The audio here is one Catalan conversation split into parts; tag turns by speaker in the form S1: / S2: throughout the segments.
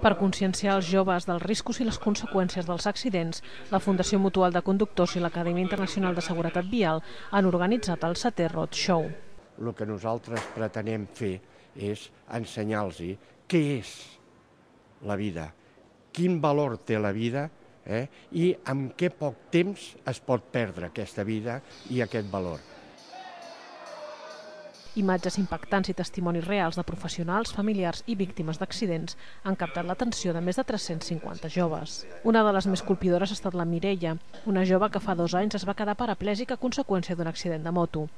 S1: Per conscienciar els joves dels riscos i les conseqüències dels accidents, la Fundació Mutual de Conductors i l'Acadèmia Internacional de Seguretat Vial han organitzat el 7è Road Show.
S2: El que nosaltres pretenem fer és ensenyar-los què és la vida, quin valor té la vida i amb què poc temps es pot perdre aquesta vida i aquest valor.
S1: Imatges impactants i testimonis reals de professionals, familiars i víctimes d'accidents han captat l'atenció de més de 350 joves. Una de les més colpidores ha estat la Mireia, una jove que fa 2 anys es va quedar paraplègica a conseqüència d'un accident de moto.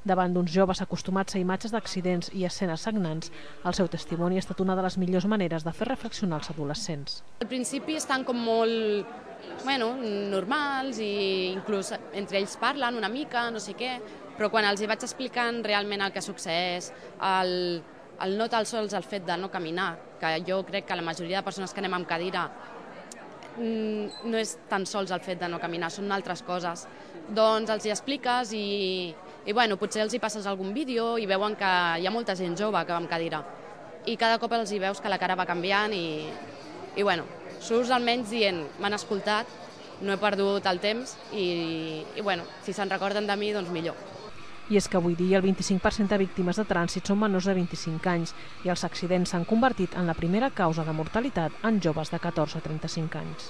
S1: Davant d'uns joves acostumats a imatges d'accidents i escenes sagnants, el seu testimoni ha estat una de les millors maneres de fer reflexionar els adolescents.
S3: Al principi estan com molt normals i inclús entre ells parlen una mica, no sé què, però quan els hi vaig explicant realment el que succeeix, el no tan sols el fet de no caminar, que jo crec que la majoria de persones que anem amb cadira no és tan sols el fet de no caminar, són altres coses. Doncs els hi expliques i potser els hi passes algun vídeo i veuen que hi ha molta gent jove que va amb cadira. I cada cop els hi veus que la cara va canviant i surts almenys dient, m'han escoltat, no he perdut el temps i si se'n recorden de mi, doncs millor.
S1: I és que avui dia el 25% de víctimes de trànsit són menors de 25 anys i els accidents s'han convertit en la primera causa de mortalitat en joves de 14 a 35 anys.